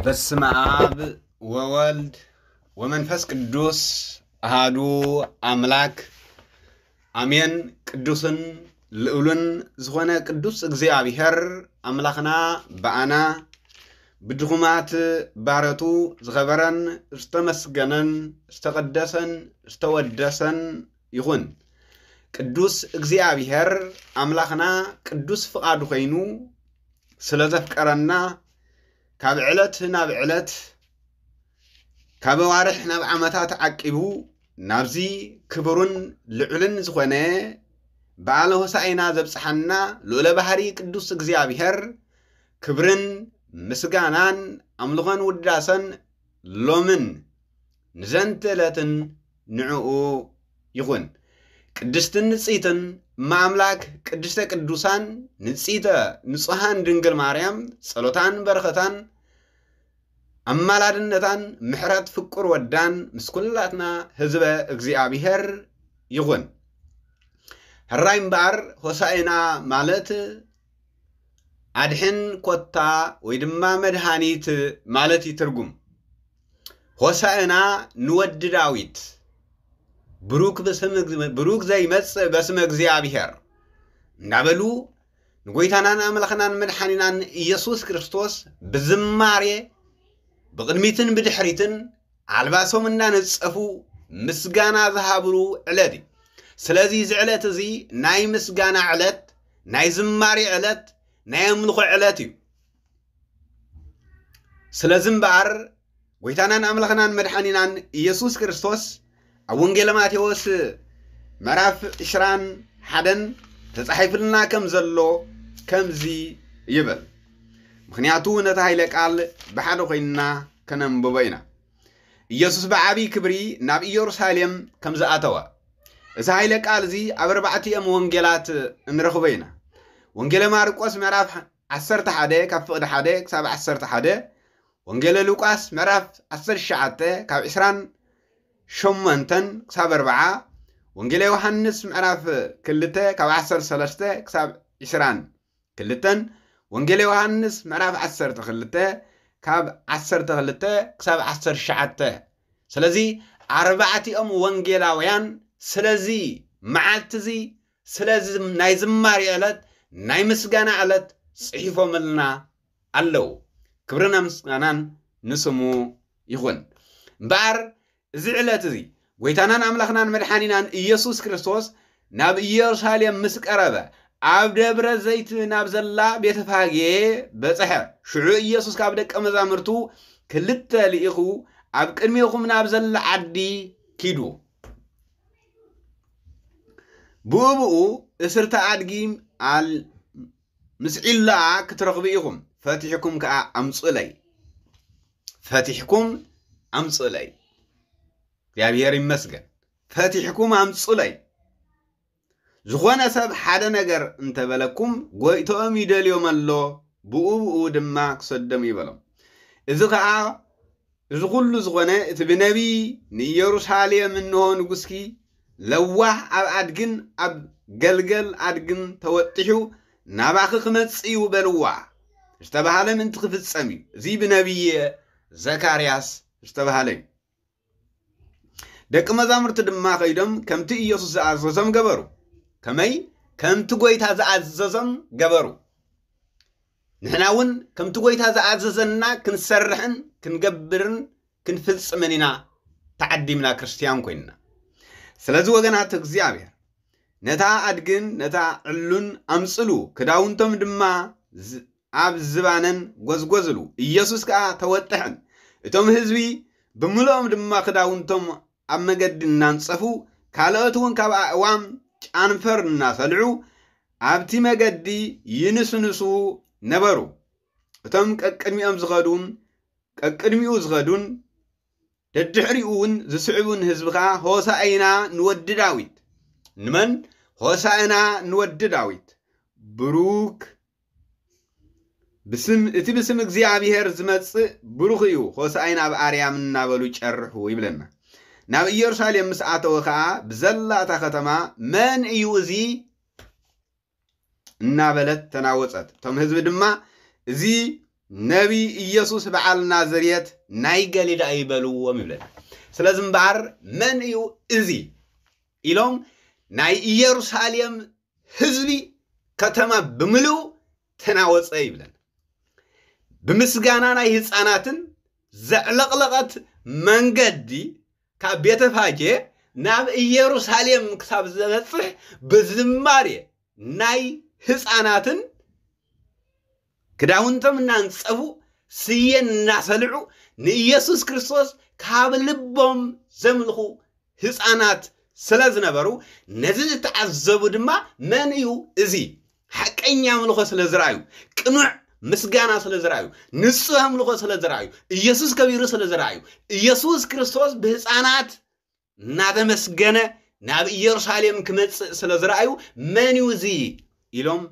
በስመ አብ ወወልድ ወመንፈስ ቅዱስ አሃዱ አምላክ አሜን። ቅዱስን ልዑልን ዝኾነ ቅዱስ እግዚኣብሔር ኣምላኽና ብኣና ብድኹማት ባረቱ ዝኸበረን ዝተመስገነን ዝተቐደሰን ዝተወደሰን ይኹን። ቅዱስ እግዚኣብሔር ኣምላኽና ቅዱስ ፍቓዱ ኮይኑ ስለ ዘፍቀረና ካብ ዕለት ናብ ዕለት ካብ ኣዋርሕ ናብ ዓመታት ዓቂቡ ናብዚ ክቡርን ልዑልን ዝኾነ በዓለ ሆሳዕና ዘብጽሓና ልዑለ ባህሪ ቅዱስ እግዚኣብሔር ክብርን ምስጋናን ኣምልኾን ውዳሰን ሎምን ንዘንተ ዕለትን ንዕኡ ይኹን። ቅድስትን ንጽይትን እመ ኣምላክ ቅድስተ ቅዱሳን ንጽይተ ንጹሃን ድንግል ማርያም ጸሎታን በረኸታን ኣማላድነታን ምሕረት ፍቁር ወዳን ምስ ኩላትና ህዝበ እግዚኣብሔር ይኹን። ሕራይ እምበኣር ሆሳዕና ማለት ኣድሕን ኮታ ወይ ድማ መድሃኒት ማለት እዩ ትርጉም። ሆሳዕና ንወዲ ዳዊት ብሩክ ብስም ብሩክ ዘይመጽእ በስመ እግዚኣብሔር እንዳበሉ ንጎይታናን ኣምላኽናን መድሓኒናን ኢየሱስ ክርስቶስ ብዝማሬ ብቕድሚትን ብድሕሪትን ኣልባሶም እናነጸፉ ምስጋና ዝሃብሉ ዕለት እዩ። ስለዚ እዚ ዕለት እዚ ናይ ምስጋና ዕለት፣ ናይ ዝማሬ ዕለት፣ ናይ ኣምልኾ ዕለት እዩ። ስለዚ እምበኣር ጎይታናን ኣምላኽናን መድሓኒናን ኢየሱስ ክርስቶስ ኣብ ወንጌለ ማቴዎስ ምዕራፍ ዕስራን ሓደን ተጻሒፍልና ከም ዘሎ ከምዚ ይብል። ምኽንያቱ ነቲ ኃይለ ቃል ብሓደ ኮይንና ከነንብቦ ኢና። ኢየሱስ ብዓብዪ ክብሪ ናብ ኢየሩሳሌም ከም ዝኣተወ። እዚ ኃይለ ቃል እዚ ኣብ ኣርባዕቲኦም ወንጌላት እንረኽቦ ኢና። ወንጌለ ማርቆስ ምዕራፍ ዓሰርተ ሓደ ካብ ፍቕዲ ሓደ ክሳብ ዓሰርተ ሓደ፣ ወንጌለ ሉቃስ ምዕራፍ ዓሰርተ ትሽዓተ ካብ ዕስራን ሸሞንተን ክሳብ ኣርብዓ፣ ወንጌለ ዮሃንስ ምዕራፍ ክልተ ካብ ዓሰርተ ሰለስተ ክሳብ ዕስራን ክልተን፣ ወንጌለ ዮሃንስ ምዕራፍ ዓሰርተ ክልተ ካብ ዓሰርተ ክልተ ክሳብ ዓሰርተ ትሽዓተ። ስለዚ ኣርባዕቲኦም ወንጌላውያን ስለዚ መዓልቲ እዚ ስለዚ ናይ ዝማሬ ዕለት ናይ ምስጋና ዕለት ጽሒፎምልና ኣለዉ። ክብርን ምስጋናን ንስሙ ይኹን። እምበኣር እዚ ዕለት እዚ ጎይታናን ኣምላኽናን መድሓኒናን ኢየሱስ ክርስቶስ ናብ ኢየሩሳሌም ምስ ቀረበ ኣብ ደብረ ዘይት ናብ ዘላ ቤተፋጌ በጽሐ። ሽዑ ኢየሱስ ካብ ደቀ መዛሙርቱ ክልተ ልኢኹ ኣብ ቅድሜኹም ናብ ዘላ ዓዲ ኪዱ። ብኡ ብኡ እስርተ ኣድጊ ኣል ምስዒላኣ ክትረኽቡ ኢኹም፣ ፈቲሕኩም ከኣ ኣምጹለይ። ፈቲሕኩም ኣምጹለይ። እግዚኣብሔር ይመስገን። ፈቲሕኩም ኣምጹለይ። ዝኾነ ሰብ ሓደ ነገር እንተበለኩም፣ ጎይትኦም ይደልዮም ኣሎ፣ ብኡ ብኡ ድማ ክሰዶም ይበሎም። እዚ ኸኣ እዚ ኹሉ ዝኾነ እቲ ብነቢይ ንኢየሩሳሌም እንሆ ንጉስኪ ለዋህ ኣብ ኣድግን ኣብ ገልገል ኣድግን ተወጢሑ ናባኺ ክመጽእ እዩ በልዋ ዝተባህለ ምእንቲ ክፍጸም እዩ። እዚ ብነቢይ ዘካርያስ ዝተባህለ እዩ። ደቂ መዛሙርቲ ድማ ከይዶም ከምቲ ኢየሱስ ዝኣዘዞም ገበሩ። ከመይ? ከምቲ ጐይታ ዝኣዘዞም ገበሩ። ንሕና እውን ከምቲ ጐይታ ዝኣዘዘና ክንሰርሕን ክንገብርን ክንፍጽምን ኢና ተዓዲምና ክርስትያን ኮይንና። ስለዚ ወገናት እግዚኣብሔር ነታ ኣድግን ነታ ዕሉን ኣምጽሉ፣ ክዳውንቶም ድማ ዝ- ኣብ ዝባነን ጐዝጐዝሉ። ኢየሱስ ከኣ ተወጥሐን። እቶም ህዝቢ ብምልኦም ድማ ክዳውንቶም ኣብ መገዲ እናንጸፉ፣ ካልኦት እውን ካብ ኣእዋም ጫንፈር እናሰልዑ ኣብቲ መገዲ ይንስንሱ ነበሩ። እቶም ቀቅድሚኦም ዝኸዱን ቀቅድሚኡ ዝኸዱን ደድሕሪኡ እውን ዝስዕቡን ህዝቢ ኸዓ ሆሳእና ንወዲ ዳዊት። ንመን? ሆሳእና ንወዲ ዳዊት። ብሩክ ብስም እቲ ብስም እግዚኣብሔር ዝመጽእ ብሩኽ እዩ፣ ሆሳእና ኣብ ኣርያም እናበሉ ይጨርሑ ይብለና። ናብ ኢየሩሳሌም ምስ ኣተወ ኸዓ ብዘላ እታ ከተማ መን እዩ እዚ እናበለት ተናወጸት። እቶም ህዝቢ ድማ እዚ ነቢይ ኢየሱስ በዓል ናዝሬት ናይ ገሊላ እዩ በልዎም ይብለና። ስለዚ እምበኣር መን እዩ እዚ ኢሎም ናይ ኢየሩሳሌም ህዝቢ ከተማ ብምልኡ ተናወጸ ይብለና። ብምስጋና ናይ ህፃናትን ዘዕለቕለቐት መንገዲ ካብ ቤተፋጌ ናብ ኢየሩሳሌም ክሳብ ዝበፅሕ ብዝማሬ ናይ ህፃናትን ክዳውንቶም እናንፀፉ ስየ እናሰልዑ ንኢየሱስ ክርስቶስ ካብ ልቦም ዘምልኹ ህፃናት ስለ ዝነበሩ ነዚ ዝተዓዘቡ ድማ መን እዩ እዚ ሓቀኛ ኣምልኾ ስለ ዝረኣዩ ቅኑዕ ምስጋና ስለ ዝረኣዩ ንፁህ ኣምልኾ ስለ ዝረኣዩ ኢየሱስ ከቢሩ ስለ ዝረኣዩ ኢየሱስ ክርስቶስ ብህፃናት እናተመስገነ ናብ ኢየሩሳሌም ክመፅእ ስለ ዝረኣዩ መን እዩ እዚ ኢሎም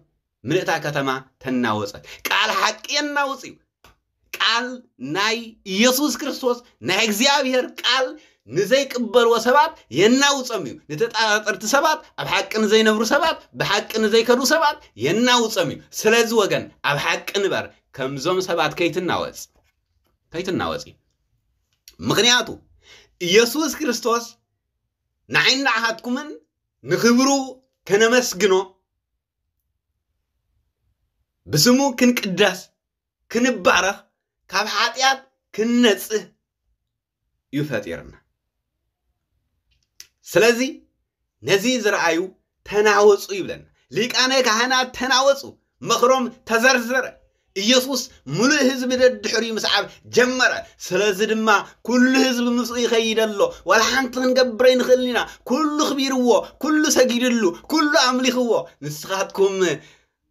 ምልእታ ከተማ ተናወፀት። ቃል ሓቂ የናውፅ እዩ። ቃል ናይ ኢየሱስ ክርስቶስ ናይ እግዚኣብሔር ቃል ንዘይቅበልዎ ሰባት የናውፀም እዩ። ንተጠራጠርቲ ሰባት፣ ኣብ ሓቂ ንዘይነብሩ ሰባት፣ ብሓቂ ንዘይከዱ ሰባት የናውፀም እዩ። ስለዚ ወገን ኣብ ሓቂ ንበር፣ ከምዞም ሰባት ከይትናወፅ ከይትናወፂ። ምክንያቱ ኢየሱስ ክርስቶስ ንዓይን ንዓኻትኩምን ንኽብሩ ከነመስግኖ ብስሙ ክንቅደስ ክንባረኽ ካብ ሓጢኣት ክንነጽህ እዩ ፈጢርና። ስለዚ ነዚ ዝረኣዩ ተናወጹ ይብለና። ሊቃነ ካህናት ተናወጹ፣ ምኽሮም ተዘርዘረ። ኢየሱስ ምሉእ ህዝቢ ደድሕሪኡ ምስዓብ ጀመረ። ስለዚ ድማ ኩሉ ህዝቢ ምስኡ ይኸይድ ኣሎ። ዋላ ሓንቲ ክንገብር ኣይንኽእልን ኢና። ኩሉ ኣኽቢርዎ፣ ኩሉ ሰጊድሉ፣ ኩሉ ኣምሊኽዎ። ንስኻትኩም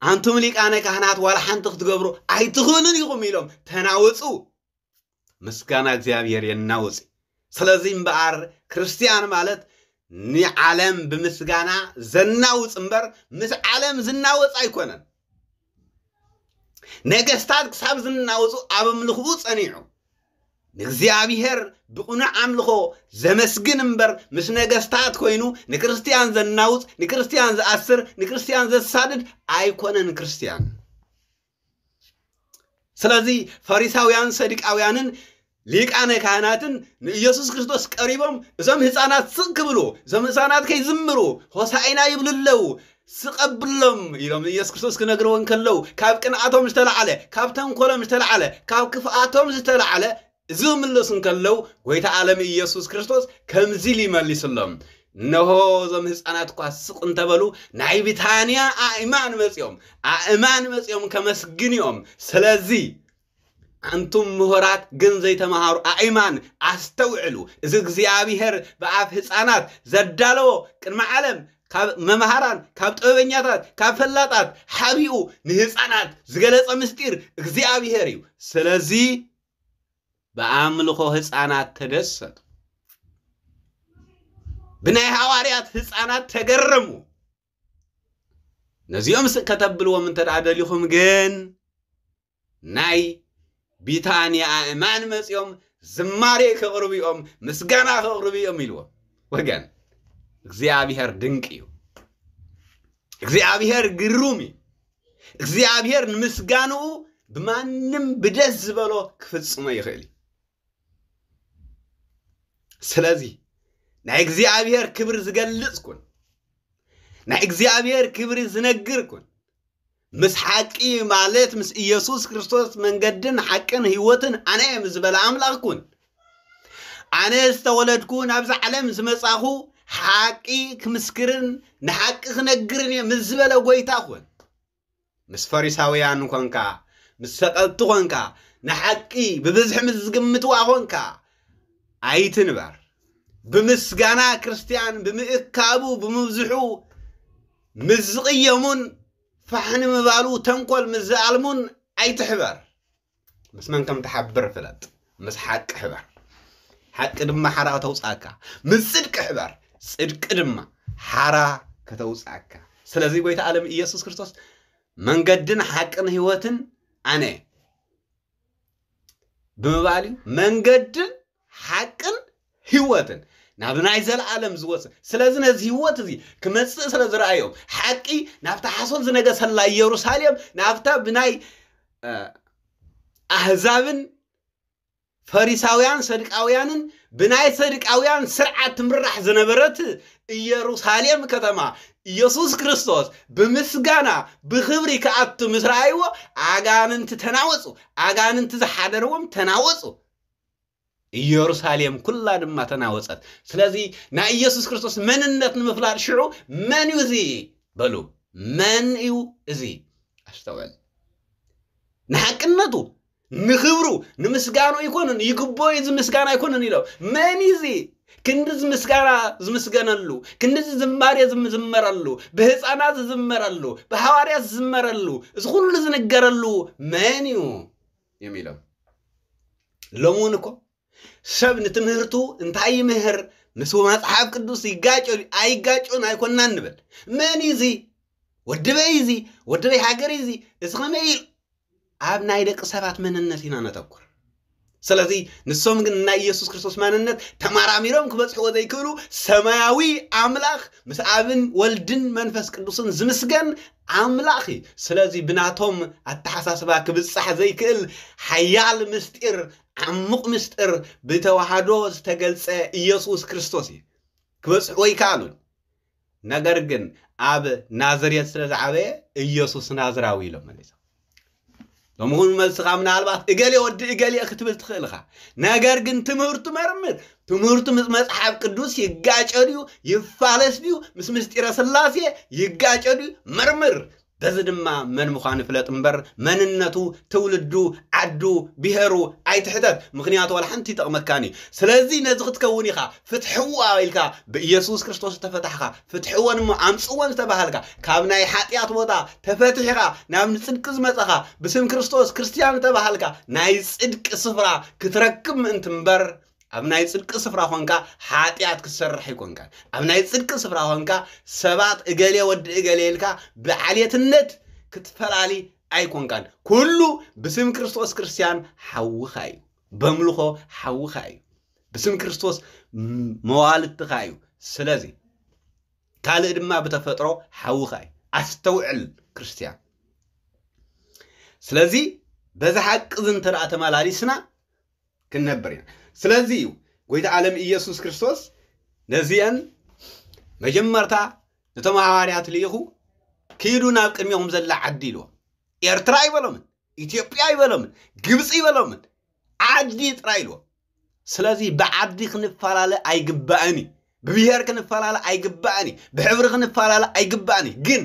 ኣንቱም ሊቃነ ካህናት ዋላ ሓንቲ ክትገብሩ ኣይትኽእሉን ኢኹም ኢሎም ተናወጹ። ምስጋና እግዚኣብሔር የናውጽ። ስለዚ እምበኣር ክርስትያን ማለት ንዓለም ብምስጋና ዘናውጽ እምበር ምስ ዓለም ዝናወጽ ኣይኮነን። ነገስታት ክሳብ ዝናወጹ ኣብ ኣምልኽኡ ጸኒዑ ንእግዚኣብሔር ብቕኑዕ ኣምልኾ ዘመስግን እምበር ምስ ነገስታት ኮይኑ ንክርስትያን ዘናውጽ፣ ንክርስትያን ዝኣስር፣ ንክርስትያን ዘሳድድ ኣይኮነን ክርስትያን። ስለዚ ፈሪሳውያን ሰዱቃውያንን ሊቃነ ካህናትን ንኢየሱስ ክርስቶስ ቀሪቦም እዞም ህፃናት ስቕ ክብሉ እዞም ህፃናት ከይዝምሩ ሆሳኢና ይብሉ ኣለዉ ስቐብሎም ኢሎም ንኢየሱስ ክርስቶስ ክነግርዎ እንከለዉ ካብ ቅንኣቶም ዝተላዕለ ካብ ተንኮሎም ዝተላዕለ ካብ ክፍኣቶም ዝተላዕለ እዚ ክምልሱ እንከለዉ ጎይታ ዓለም ኢየሱስ ክርስቶስ ከምዚ ኢሉ ይመሊስሎም። እነሆ እዞም ህፃናት እኳ ስቕ እንተበሉ ናይ ቢታንያ ኣእማን መፂኦም ኣእማን መፂኦም ከመስግን እዮም። ስለዚ ኣንቱም ምሁራት ግን ዘይተምሃሩ ኣእማን ኣስተውዕሉ። እዚ እግዚኣብሔር ብኣፍ ህፃናት ዘዳለዎ ቅድሚ ዓለም ካብ መምሃራን ካብ ጥበበኛታት ካብ ፈላጣት ሓቢኡ ንህፃናት ዝገለፀ ምስጢር እግዚኣብሔር እዩ። ስለዚ ብኣምልኾ ህፃናት ተደሰቱ። ብናይ ሃዋርያት ህፃናት ተገረሙ። ነዚኦም ስቅ ከተብልዎም እንተ ደኣ ደሊኹም ግን ናይ ቢታንያ ኣእማን መጺኦም ዝማሬ ከቕርቡ እዮም፣ ምስጋና ከቕርቡ እዮም ኢልዎም። ወገን እግዚኣብሔር ድንቅ እዩ። እግዚኣብሔር ግሩም እዩ። እግዚኣብሔር ንምስጋንኡ ብማንም ብደስ ዝበሎ ክፍጽሞ ይኽእል እዩ። ስለዚ ናይ እግዚኣብሔር ክብሪ ዝገልጽ ኩን፣ ናይ እግዚኣብሔር ክብሪ ዝነግር ኩን። ምስ ሓቂ ማለት ምስ ኢየሱስ ክርስቶስ መንገድን ሓቅን ህይወትን ኣነ እየ ምስ ዝበለ ኣምላኽ ኩን። ኣነ ዝተወለድኩ ናብዛ ዓለም ዝመጻኹ ሓቂ ክምስክርን ንሓቂ ክነግርን እየ ምስ ዝበለ ጎይታ ኩን። ምስ ፈሪሳውያን ኮንካ፣ ምስ ሰቐጥቲ ኮንካ፣ ንሓቂ ብብዝሒ ምስ ዝግምትዋ ኮንካ ኣይትንበር። ብምስጋና ክርስትያን ብምእካቡ ብምብዝሑ ምስ ዝቕየሙን ፋሕ ንምባሉ ተንኮል ምስ ዝኣልሙን ኣይትሕበር። ምስ መን ከም ትሓብር ፍለጥ። ምስ ሓቂ ሕበር፣ ሓቂ ድማ ሓራ ከተውፅኣካ። ምስ ፅድቂ ሕበር፣ ፅድቂ ድማ ሓራ ከተውፅኣካ። ስለዚ ጎይታ ዓለም ኢየሱስ ክርስቶስ መንገድን ሓቅን ህይወትን ኣነ ብምባል እዩ። መንገድን ሓቅን ህይወትን ናብ ናይ ዘለኣለም ዝወስድ። ስለዚ ነዚ ህይወት እዚ ክመፅእ ስለ ዝረኣዮም ሓቂ ናብታ ሓሶት ዝነገሰላ ኢየሩሳሌም ናብታ ብናይ እ፣ ኣህዛብን ፈሪሳውያን ሰድቃውያንን ብናይ ሰድቃውያን ስርዓት ትምራሕ ዝነበረት ኢየሩሳሌም ከተማ ኢየሱስ ክርስቶስ ብምስጋና ብኽብሪ ክኣቱ ምስ ረኣይዎ ኣጋንንቲ ተናወጹ። ኣጋንንቲ ዝሓደርዎም ተናወጹ። ኢየሩሳሌም ኩላ ድማ ተናወጸት። ስለዚ ናይ ኢየሱስ ክርስቶስ መንነት ንምፍላጥ ሽዑ መን እዩ እዚ በሉ። መን እዩ እዚ? ኣስተውዕል። ንሓቅነቱ ንኽብሩ ንምስጋኑ ኣይኮነን ይግቦ እዚ ምስጋና ኣይኮነን ኢሎም። መን እዚ ክንድዚ ምስጋና ዝምስገነሉ ክንድዚ ዝማሬ ዝምዝመረሉ ብህፃናት ዝዝመረሉ ብሃዋርያት ዝዝመረሉ እዚ ኩሉ ዝንገረሉ መን እዩ እዮም ኢሎም። ሎም እውን እኮ ሰብ ንትምህርቱ እንታይ ይምህር ምስ መፅሓፍ ቅዱስ ይጋጨ ኣይጋጭን ኣይኮናን ንብል። መን እዩ እዚ? ወድበይ እዚ ወድበይ ሃገር እዚ እዚ ከመይ ኢሉ ኣብ ናይ ደቂ ሰባት መንነት ኢና ነተኩር። ስለዚ ንሶም ግን ናይ ኢየሱስ ክርስቶስ መንነት ተመራሚሮም ክበጽሕዎ ዘይክእሉ ሰማያዊ ኣምላኽ ምስ ኣብን ወልድን መንፈስ ቅዱስን ዝምስገን ኣምላኽ እዩ። ስለዚ ብናቶም ኣተሓሳስባ ክብጻሕ ዘይክእል ሓያል ምስጢር ዓሙቕ ምስጢር ብተዋህዶ ዝተገልጸ ኢየሱስ ክርስቶስ እዩ። ክበጽሕዎ ኣይከኣሉን። ነገር ግን ኣብ ናዝሬት ስለ ዝዓበየ ኢየሱስ ናዝራዊ ኢሎም መሊሶም። ሎሚ እውን መልስኻ ምናልባት እገሌ ወዲ እገሌ ክትብል ትኽእል ኢኻ። ነገር ግን ትምህርቱ መርምር። ትምህርቱ ምስ መጽሓፍ ቅዱስ ይጋጨ ድዩ ይፋለስ ድዩ ምስ ምስጢረ ስላሴ ይጋጨ ድዩ መርምር። በዚ ድማ መን ምዃኑ ፍለጥ እምበር መንነቱ ትውልዱ ዓዱ ብሄሩ ኣይትሕተት። ምኽንያቱ ዋላ ሓንቲ ይጠቕመካን እዩ። ስለዚ ነዚ ክትከውን ኢኻ ፍትሕዋ ኢልካ ብኢየሱስ ክርስቶስ ዝተፈታሕካ ፍትሕወን እሞ ኣምፅወን ዝተባሃልካ ካብ ናይ ሓጢኣት ቦታ ተፈቲሕኻ ናብ ንፅድቂ ዝመፀኻ ብስም ክርስቶስ ክርስትያን ዝተባሃልካ ናይ ፅድቂ ስፍራ ክትረክብ ምእንቲ እምበር ኣብ ናይ ጽድቂ ስፍራ ኾንካ ሓጢኣት ክትሰርሕ ኣይኮንካን። ኣብ ናይ ጽድቂ ስፍራ ኾንካ ሰባት እገሌ ወዲ እገሌ ኢልካ ብዓሌትነት ክትፈላሊ ኣይኮንካን። ኩሉ ብስም ክርስቶስ ክርስትያን ሓውኻ እዩ። በምልኾ ሓውኻ እዩ። ብስም ክርስቶስ መዋልድትኻ እዩ። ስለዚ ካልእ ድማ ብተፈጥሮ ሓውኻ እዩ። ኣስተውዕል ክርስትያን። ስለዚ በዚ ሓቂ እዚ እንተ ተመላሊስና ክንነብር ኢና። ስለዚ እዩ ጎይታ ዓለም ኢየሱስ ክርስቶስ ነዚአን መጀመርታ ነቶም ሃዋርያት ልኢኹ ኪዱ ናብ ቅድሚኹም ዘላ ዓዲ ኢልዎም። ኤርትራ ኣይበሎምን፣ ኢትዮጵያ ኣይበሎምን፣ ግብፂ ኣይበሎምን፣ ዓዲ ጥራይ ኢልዎም። ስለዚ ብዓዲ ክንፈላለ ኣይግባእን እዩ። ብብሄር ክንፈላለ ኣይግባእን እዩ። ብሕብሪ ክንፈላለ ኣይግባእን እዩ። ግን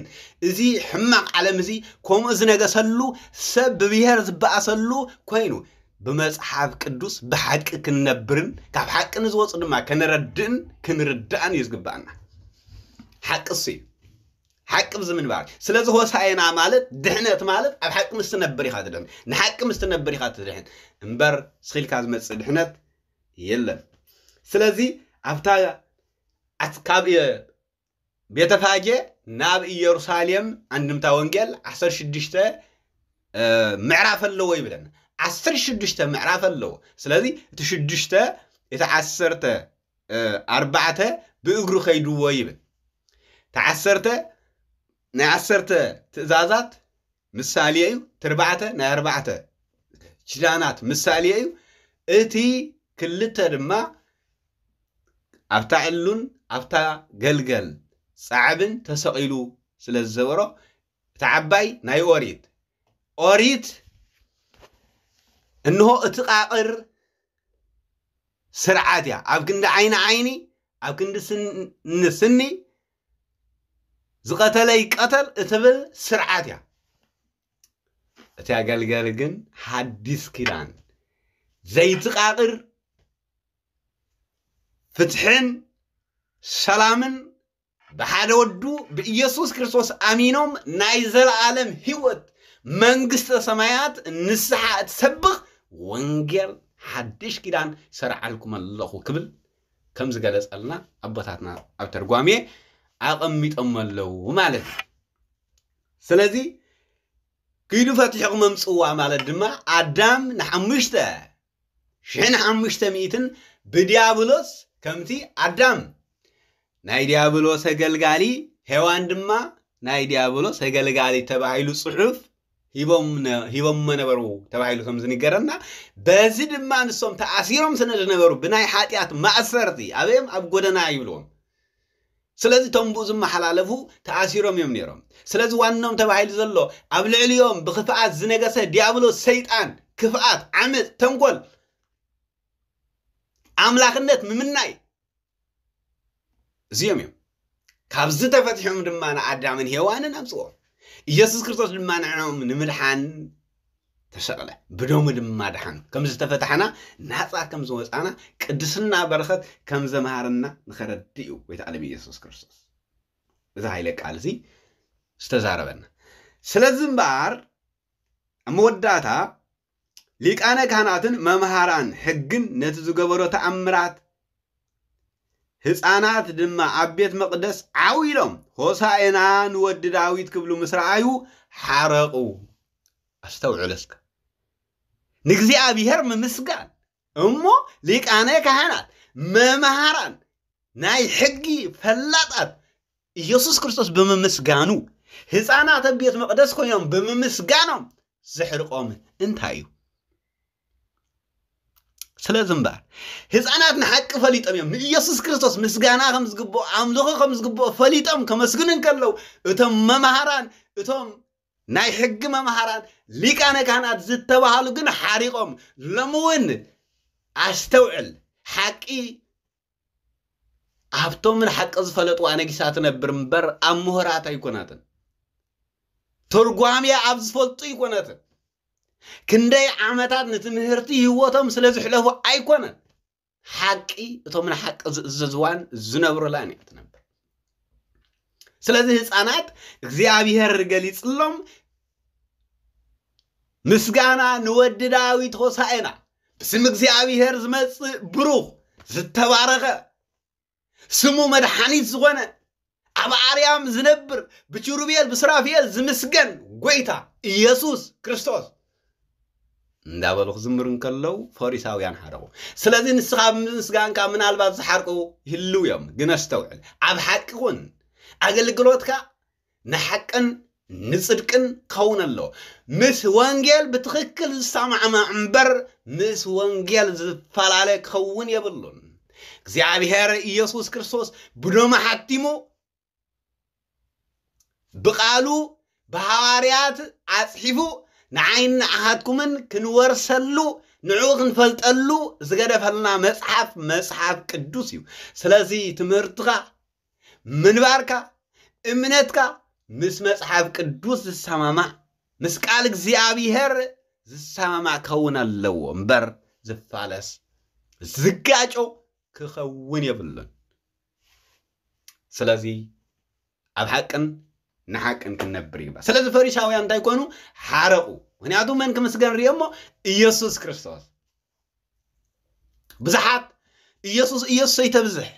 እዚ ሕማቕ ዓለም እዚ ከምኡ ዝነገሰሉ ሰብ ብብሄር ዝበኣሰሉ ኮይኑ ብመፅሓፍ ቅዱስ ብሓቂ ክንነብርን ካብ ሓቂ ንዝወፁ ድማ ከነረድእን ክንርዳእን እዩ ዝግባኣና። ሓቂ እሱ እዩ። ሓቂ ብዚ ምንባር። ስለዚ ሆሳዕና ማለት ድሕነት ማለት ኣብ ሓቂ ምስ ትነብር ኢኻ ትድሕን። ንሓቂ ምስ ትነብር ኢኻ ትድሕን። እምበር ስኺልካ ዝመፅእ ድሕነት የለን። ስለዚ ኣብታ ኣት- ካብ ቤተፋጌ ናብ ኢየሩሳሌም ኣንድምታ ወንጌል ዓሰርተ ሽዱሽተ ምዕራፍ ኣለዎ ይብለና። ዓሰርተ ሽዱሽተ ምዕራፍ ኣለዎ። ስለዚ እቲ ሽዱሽተ እቲ ዓሰርተ ኣርባዕተ ብእግሩ ከይድዎ ይብል። እቲ ዓሰርተ ናይ ዓሰርተ ትእዛዛት ምሳሌ እዩ። እቲ ኣርባዕተ ናይ ኣርባዕተ ኪዳናት ምሳሌ እዩ። እቲ ክልተ ድማ ኣብታ ዕሉን ኣብታ ገልገል ጻዕብን ተሰቒሉ ስለ ዝዘበሮ እታ ዓባይ ናይ ኦሪት ኦሪት እንሆ እቲ ቃቕር ስርዓት እያ። ኣብ ክንዲ ዓይኒ ዓይኒ ኣብ ክንዲ ስኒ ስኒ ዝቐተለ ይቀተል እትብል ስርዓት እያ። እቲ ኣገልገል ግን ሓዲስ ኪዳን ዘይትቃቕር ፍትሕን ሰላምን ብሓደ ወዱ ብኢየሱስ ክርስቶስ ኣሚኖም ናይ ዘለኣለም ህይወት መንግስተ ሰማያት ንስሓ እትሰብኽ ወንጌል ሓድሽ ኪዳን ሰርዓልኩም ኣለኹ ክብል ከም ዝገለጸልና ኣቦታትና ኣብ ተርጓሜ ኣቐሚጦም ኣለዉ ማለት እዩ። ስለዚ ኪዱ ፈቲሕኹም ኣምጽዋ ማለት ድማ ኣዳም ንሓሙሽተ ሽሕን ሓሙሽተ ሚእትን ብዲያብሎስ ከምቲ ኣዳም ናይ ዲያብሎስ ኣገልጋሊ ሄዋን ድማ ናይ ዲያብሎስ ኣገልጋሊ ተባሂሉ ጽሑፍ ሂቦሞ ነበሩ ተባሂሉ ከም ዝንገረና፣ በዚ ድማ ንሶም ተኣሲሮም ስለ ዝነበሩ ብናይ ሓጢኣት ማእሰርቲ ኣበዮም ኣብ ጎደና ይብልዎም። ስለዚ እቶም ብኡ ዝመሓላለፉ ተኣሲሮም እዮም ነይሮም። ስለዚ ዋኖም ተባሂሉ ዘሎ ኣብ ልዕሊኦም ብክፍኣት ዝነገሰ ዲያብሎስ ሰይጣን ክፍኣት፣ ዓመፅ፣ ተንኮል፣ ኣምላኽነት ምምናይ እዚኦም እዮም። ካብዚ ተፈቲሖም ድማ ንኣዳምን ሄዋንን ኣምፅዎም። ኢየሱስ ክርስቶስ ድማ ንዕኦም ንምድሓን ተሰቕለ፣ ብደሙ ድማ ደሓኑ። ከም ዝተፈታሕና፣ ናፃ ከም ዝወፃና፣ ቅድስና በረኸት ከም ዘምሃረና ንኸረድእ እዩ ጎይታ ዓለም ኢየሱስ ክርስቶስ እዚ ሃይለ ቃል እዚ ዝተዛረበና። ስለዚ እምበኣር ኣብ መወዳእታ ሊቃነ ካህናትን መምሃራን ሕግን ነቲ ዝገበሮ ተኣምራት ህፃናት ድማ ኣብ ቤት መቕደስ ዓው ኢሎም ሆሳኤና ንወዲ ዳዊት ክብሉ ምስ ረኣዩ ሓረቑ። ኣስተውዕሉ እስከ። ንእግዚኣብሔር ምምስጋን እሞ ሊቃነ ካህናት መምሃራን ናይ ሕጊ ፈላጣት ኢየሱስ ክርስቶስ ብምምስጋኑ ህፃናት ኣብ ቤት መቕደስ ኮይኖም ብምምስጋኖም ዘሕርቆም እንታይ እዩ? ስለዚ እምበኣር ህፃናት ንሓቂ ፈሊጦም እዮም። ንኢየሱስ ክርስቶስ ምስጋና ከም ዝግብኦ፣ ኣምልኾ ከም ዝግብኦ ፈሊጦም ከመስግኑ እንከለዉ፣ እቶም መምሃራን፣ እቶም ናይ ሕጊ መምሃራን፣ ሊቃነ ካህናት ዝተባሃሉ ግን ሓሪቖም። ሎሚ እውን ኣስተውዕል፣ ሓቂ ኣብቶም ንሓቂ ዝፈለጥዋ ነጊሳ ትነብር እምበር ኣብ ምሁራት ኣይኮነትን። ትርጓሜ ኣብ ዝፈልጡ ኣይኮነትን። ክንደይ ዓመታት ንትምህርቲ ህይወቶም ስለ ዝሕለፉ ኣይኮነን። ሓቂ እቶም ንሓቂ ዝእዘዝዋን ዝነብሩላን እያ ትነብር። ስለዚ ህፃናት እግዚኣብሔር ገሊፅሎም ምስጋና ንወዲ ዳዊት ሆሳዕና፣ ብስም እግዚኣብሔር ዝመጽእ ብሩኽ ዝተባረኸ፣ ስሙ መድሓኒት ዝኾነ፣ ኣብ ኣርያም ዝነብር፣ ብኪሩቤል ብሱራፌል ዝምስገን ጎይታ ኢየሱስ ክርስቶስ እንዳበሉ ክዝምሩ እንከለዉ ፈሪሳውያን ሓረቑ። ስለዚ ንስኻ ብምስጋንካ ምናልባት ዝሓርቁ ይህልው እዮም፣ ግን ኣስተውዕል። ኣብ ሓቂ ኩን። ኣገልግሎትካ ንሓቅን ንጽድቅን ክኸውን ኣለዎ። ምስ ወንጌል ብትኽክል ዝሰማዕማዕ እምበር ምስ ወንጌል ዝፈላለ ክኸውን የብሉን። እግዚኣብሔር ኢየሱስ ክርስቶስ ብደሙ ሓቲሙ፣ ብቓሉ ብሃዋርያት ኣጽሒፉ ንዓይን ንዓኻትኩምን ክንወርሰሉ፣ ንዕኡ ክንፈልጠሉ ዝገደፈልና መጽሓፍ፣ መጽሓፍ ቅዱስ እዩ። ስለዚ ትምህርትኻ፣ ምንባርካ፣ እምነትካ ምስ መጽሓፍ ቅዱስ ዝሰማማዕ፣ ምስ ቃል እግዚኣብሔር ዝሰማማዕ ክኸውን ኣለዎ እምበር ዝፋለስ፣ ዝጋጮ ክኸውን የብሉን። ስለዚ ኣብ ሓቅን ንሓቅን ክንነብር ይግባእ። ስለዚ ፈሪሳውያን እንታይ ኮኑ? ሓረቑ። ምኽንያቱ መን ክምስገን ርእዮ እሞ? ኢየሱስ ክርስቶስ። ብዙሓት ኢየሱስ ኢየሱስ ኣይተብዝሕ፣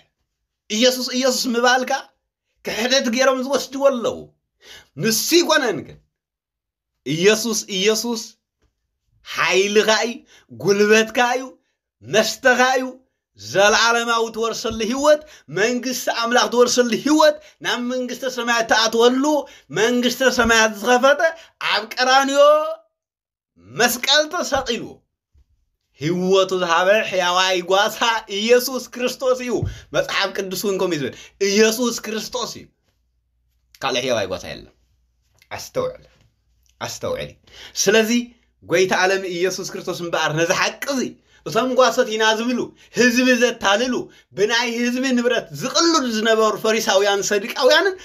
ኢየሱስ ኢየሱስ ምባልካ ክሕደት ገይሮም ዝወስድዎ ኣለዉ። ንሱ ይኮነን ግን ኢየሱስ ኢየሱስ ሓይልኻ እዩ፣ ጉልበትካ እዩ፣ መስተኻ እዩ። ዘለዓለማዊ ትወርሰሉ ህይወት፣ መንግስቲ ኣምላኽ ትወርሰሉ ህይወት፣ ናብ መንግስተ ሰማያት ትኣትወሉ መንግስተ ሰማያት ዝኸፈተ ኣብ ቀራንዮ መስቀል ተሰቒሉ ህይወቱ ዝሃበ ሕያዋይ ጓሳ ኢየሱስ ክርስቶስ እዩ። መጽሓፍ ቅዱስ እውን ከምኡ እዩ ዝብል። ኢየሱስ ክርስቶስ እዩ። ካልእ ሕያዋይ ጓሳ የለን። ኣስተውዕል፣ ኣስተውዕሊ። ስለዚ ጎይታ ዓለም ኢየሱስ ክርስቶስ እምበኣር ነዚ ሓቂ እዚ እቶም ጓሶት ኢና ዝብሉ፣ ህዝቢ ዘታልሉ፣ ብናይ ህዝቢ ንብረት ዝቕልዱ ዝነበሩ ፈሪሳውያን ሰዱቃውያንን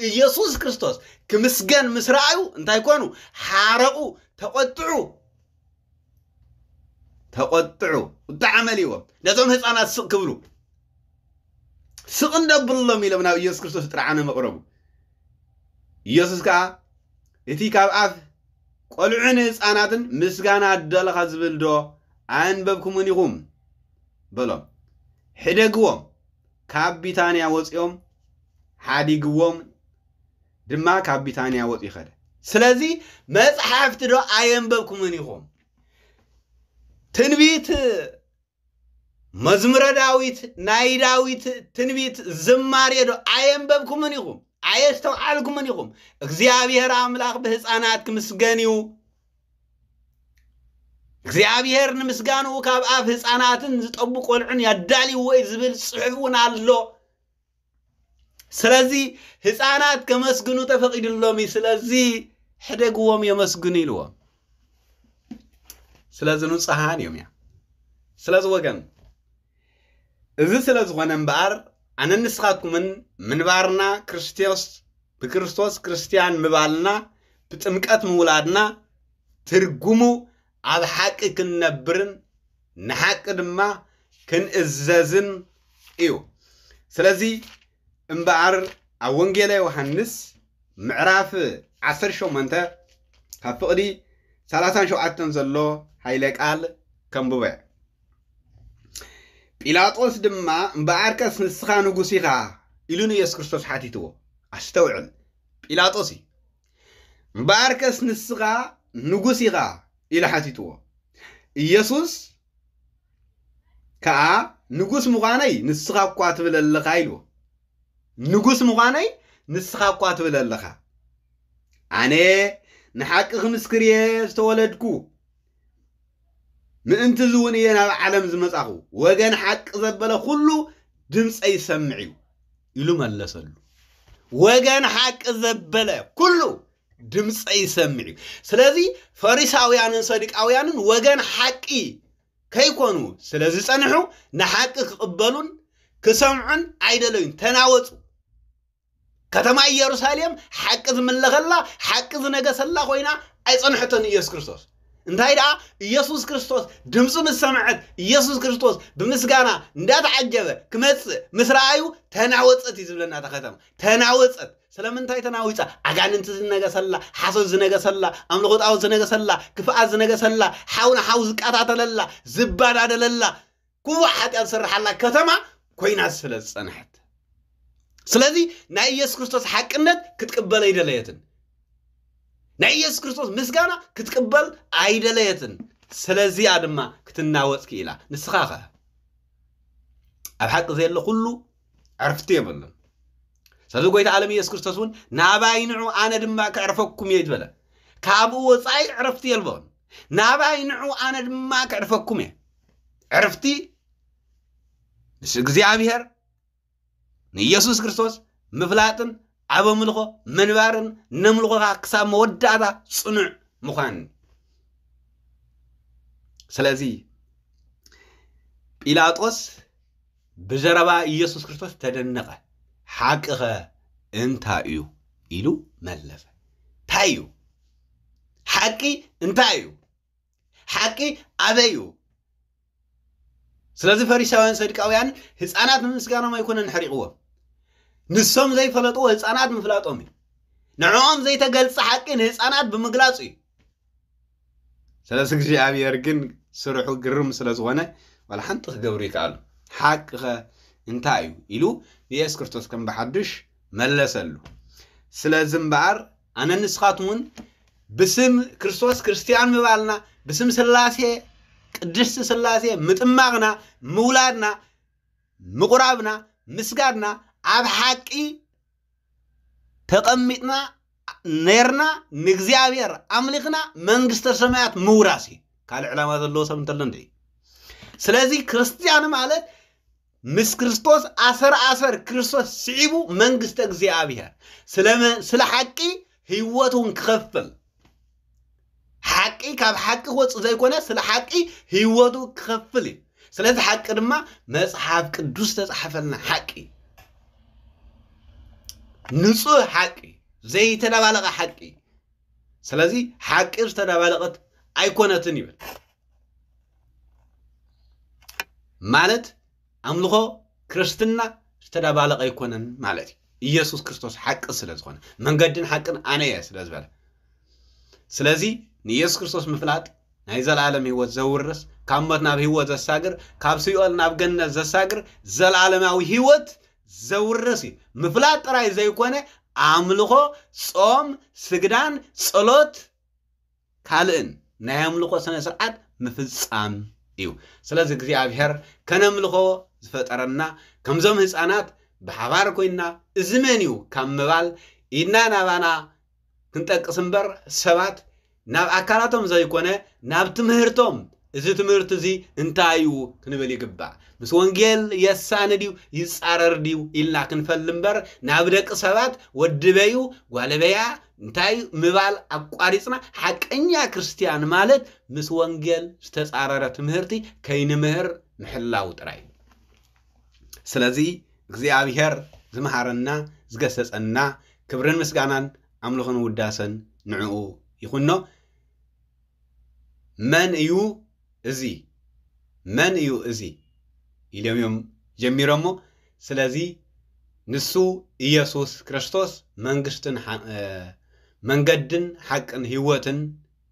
ኢየሱስ ክርስቶስ ክምስገን ምስ ረኣዩ እንታይ ኮኑ? ሓረቑ፣ ተቖጥዑ፣ ተቖጥዑ፣ ቁጣዕ መሊዎም። ነዞም ህፃናት ስቕ ክብሉ፣ ስቕ እንደብሎም ኢሎም ናብ ኢየሱስ ክርስቶስ ጥርዓነ መቕረቡ። ኢየሱስ ከኣ እቲ ካብ ኣፍ ቆልዑን ህፃናትን ምስጋና ኣደለኻ ዝብል ዶ ኣየንበብኩምን ኢኹም? በሎም። ሕደግዎም። ካብ ቢታንያ ወፂኦም ሓዲግዎም ድማ ካብ ቢታንያ ወፂኡ ኸደ። ስለዚ መፅሓፍቲ ዶ ኣየንበብኩምን ኢኹም? ትንቢት መዝሙረ ዳዊት፣ ናይ ዳዊት ትንቢት ዝማሬ ዶ ኣየንበብኩምን ኢኹም? ኣየስተውዓልኩምን ኢኹም? እግዚኣብሔር ኣምላኽ ብህፃናት ክምስገን እዩ። እግዚኣብሔር ንምስጋንኡ ካብ ኣፍ ህፃናትን ዝጠቡ ቆልዑን ያዳልይዎ እዩ ዝብል ፅሑፍ እውን ኣሎ። ስለዚ ህፃናት ከመስግኑ ተፈቒዱሎም እዩ። ስለዚ ሕደግዎም የመስግኑ ኢልዎም። ስለዚ ንፁሃን እዮም እያ። ስለዚ ወገን፣ እዚ ስለ ዝኾነ እምበኣር ኣነን ንስኻትኩምን ምንባርና ክርስቶስ፣ ብክርስቶስ ክርስትያን ምባልና፣ ብጥምቀት ምውላድና ትርጉሙ ኣብ ሓቂ ክንነብርን ንሓቂ ድማ ክንእዘዝን እዩ። ስለዚ እምበኣር ኣብ ወንጌለ ዮሃንስ ምዕራፍ ዓሰርተ ሸሞንተ ካብ ፍቕዲ ሰላሳን ሸውዓተን ዘሎ ሓይለ ቃል ከንብበ። ጲላጦስ ድማ፣ "እምበኣርከስ ንስኻ ንጉስ ኢኻ?" ኢሉ ንኢየሱስ ክርስቶስ ሓቲትዎ። ኣስተውዕል፣ ጲላጦስ እዩ። "እምበኣርከስ ንስኻ ንጉስ ኢኻ?" ኢሉ ሓቲትዎ። ኢየሱስ ከኣ፣ "ንጉስ ምዃነይ ንስኻ እኳ ትብል ኣለኻ" ኢልዎ። "ንጉስ ምዃነይ ንስኻ እኳ ትብል ኣለኻ። ኣነ ንሓቂ ክምስክር እየ ዝተወለድኩ፣ ምእንቲ እዚ እውን እየ ናብ ዓለም ዝመጻኹ። ወገን ሓቂ ዘበለ ኩሉ ድምፀይ ይሰምዕ እዩ" ኢሉ መለሰሉ። ወገን ሓቂ ዘበለ ኩሉ ድምፀይ ይሰምዕ እዩ። ስለዚ ፈሪሳውያንን ሰዱቃውያንን ወገን ሓቂ ከይኮኑ ስለ ዝጸንሑ፣ ንሓቂ ክቕበሉን ክሰምዑን ኣይደለዩን፣ ተናወጹ። ከተማ ኢየሩሳሌም ሓቂ ዝምለኸላ፣ ሓቂ ዝነገሰላ ኮይና ኣይጸንሐቶን ኢየሱስ ክርስቶስ። እንታይ ደኣ፣ ኢየሱስ ክርስቶስ ድምፁ ምስ ሰምዐት፣ ኢየሱስ ክርስቶስ ብምስጋና እንዳተዓጀበ ክመጽእ ምስ ረኣዩ፣ ተናወጸት እዩ ዝብለና እታ ከተማ። ተናወጸት። ስለምንታይ ተናዊጻ? ኣጋንንቲ ዝነገሰላ፣ ሓሶት ዝነገሰላ፣ ኣምልኾ ጣዖት ዝነገሰላ፣ ክፍኣት ዝነገሰላ፣ ሓው ንሓው ዝቀታተለላ፣ ዝባዳደለላ፣ ክቡዕ ሓጢኣት ዝሰርሓላ ከተማ ኮይና ስለ ዝጸንሐት። ስለዚ ናይ ኢየሱስ ክርስቶስ ሓቅነት ክትቅበል ኣይደለየትን። ናይ ኢየሱስ ክርስቶስ ምስጋና ክትቅበል ኣይደለየትን። ስለዚኣ ድማ ክትናወጽ ክኢላ። ንስኻ ኸ? ኣብ ሓቂ ዘየለ ኩሉ ዕርፍቲ የብሉን። ስለዚ ጎይታ ዓለም ኢየሱስ ክርስቶስ እውን፣ "ናባይ ንዑ፣ ኣነ ድማ ከዕርፈኩም እየ" ዝበለ። ካብኡ ወጻኢ ዕረፍቲ የልቦን። "ናባይ ንዑ፣ ኣነ ድማ ከዕርፈኩም እየ።" ዕርፍቲ ምስ እግዚኣብሔር፣ ንኢየሱስ ክርስቶስ ምፍላጥን ኣብ ኣምልኾ ምንባርን፣ ነምልኾኻ ክሳብ መወዳእታ ጽኑዕ ምዃን። ስለዚ ጲላጦስ ብዘረባ ኢየሱስ ክርስቶስ ተደነቐ። "ሓቅኸ እንታይ እዩ?" ኢሉ መለሰ። እንታይ እዩ ሓቂ? እንታይ እዩ ሓቂ? ኣበይ እዩ? ስለዚ ፈሪሳውያን ሰዱቃውያን ህፃናት ንምስጋኖም ኣይኮነን ሕሪቕዎም። ንሶም ዘይፈለጥዎ ህፃናት ምፍላጦም እዩ። ንዕኦም ዘይተገልጸ ሓቂ ንህፃናት ብምግላጹ እዩ። ስለዚ እግዚኣብሔር ግን ስርሑ ግርም ስለ ዝኾነ ዋላ ሓንቲ ክገብሩ ይከኣሉ። "ሓቅኸ እንታይ እዩ?" ኢሉ ንኢየሱስ ክርስቶስ ከም ብሓዱሽ መለሰሉ። ስለዚ እምበኣር ኣነ ንስኻትኩም እውን ብስም ክርስቶስ ክርስትያን ምባልና፣ ብስም ስላሴ፣ ቅድስቲ ስላሴ ምጥማቕና፣ ምውላድና፣ ምቑራብና፣ ምስጋድና ኣብ ሓቂ ተቐሚጥና ነርና ንእግዚኣብሔር ኣምሊኽና መንግስተ ሰማያት ምውራስ እዩ። ካልእ ዕላማ ዘለዎ ሰብ እንተሎ እንደ እዩ። ስለዚ ክርስትያን ማለት ምስ ክርስቶስ ኣሰር ኣሰር ክርስቶስ ስዒቡ መንግስተ እግዚኣብሔር ስለ መ-፣ ስለ ሓቂ ህይወት እውን ክኸፍል፣ ሓቂ ካብ ሓቂ ክወፅእ ዘይኮነ ስለ ሓቂ ህይወቱ ክኸፍል እዩ። ስለዚ ሓቂ ድማ መጽሓፍ ቅዱስ ዝተጻሕፈልና ሓቂ፣ ንጹህ ሓቂ፣ ዘይተደባለቐ ሓቂ። ስለዚ ሓቂ ዝተደባለቐት ኣይኮነትን ይብል። ማለት ኣምልኾ ክርስትና ዝተደባለቐ ኣይኮነን ማለት እዩ። ኢየሱስ ክርስቶስ ሓቂ ስለ ዝኾነ፣ መንገድን ሓቅን ኣነ እየ ስለ ዝበለ። ስለዚ ንኢየሱስ ክርስቶስ ምፍላጥ ናይ ዘላለም ህይወት ዘውርስ፣ ካብ ሞት ናብ ህይወት ዘሳግር፣ ካብ ሲኦል ናብ ገነት ዘሳግር ዘላለማዊ ህይወት ዘውርስ እዩ። ምፍላጥ ጥራይ ዘይኮነ ኣምልኾ፣ ጾም፣ ስግዳን፣ ጸሎት፣ ካልእን ናይ ኣምልኾ ስነ ስርዓት ምፍጻም እዩ። ስለዚ እግዚኣብሔር ከነምልኾ ዝፈጠረና ከምዞም ህፃናት ብሓባር ኮይንና እዚ መን እዩ ካብ ምባል ኢድና ናባና ክንጠቅስ እምበር ሰባት ናብ ኣካላቶም ዘይኮነ ናብ ትምህርቶም፣ እዚ ትምህርቲ እዚ እንታይ እዩ ክንብል ይግባእ። ምስ ወንጌል የሳኒ ድዩ ይጻረር ድዩ ኢልና ክንፈል እምበር፣ ናብ ደቂ ሰባት ወዲ በዩ ጓል በያ እንታይ ምባል ኣቋሪጽና፣ ሓቀኛ ክርስትያን ማለት ምስ ወንጌል ዝተጻረረ ትምህርቲ ከይንምህር ምሕላው ጥራይ። ስለዚ እግዚኣብሔር ዝመሃረና ዝገሰጸና፣ ክብርን ምስጋናን ኣምልኾን ውዳሰን ንዕኡ ይኹኖ። መን እዩ እዚ? መን እዩ እዚ? ኢሎም እዮም ጀሚሮሞ። ስለዚ ንሱ ኢየሱስ ክርስቶስ መንግስትን ሓ- እ፣ መንገድን ሓቅን ህይወትን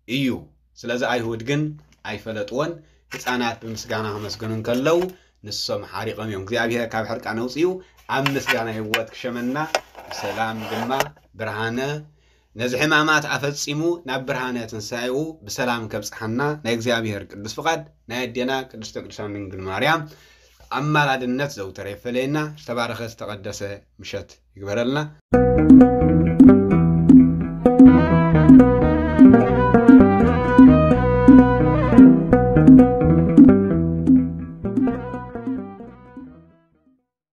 እዩ። ስለዚ ኣይሁድ ግን ኣይፈለጥዎን። ህፃናት ብምስጋና ከመስግኑ እንከለዉ ንሶም ሓሪቆም እዮም። እግዚኣብሔር ካብ ሕርቃን ኣውፅኡ ኣብ ምስጋና ህይወት ክሸመና፣ ብሰላም ድማ ብርሃነ ነዚ ሕማማት ኣፈጺሙ ናብ ብርሃነ ትንሳኤኡ ብሰላም ከብጽሓና ናይ እግዚኣብሔር ቅዱስ ፍቓድ፣ ናይ ኣዴና ቅድስተ ቅዱሳን ድንግል ማርያም ኣማላድነት ዘውተረ ይፈለየና። ዝተባረኸ ዝተቐደሰ ምሸት ይግበረልና።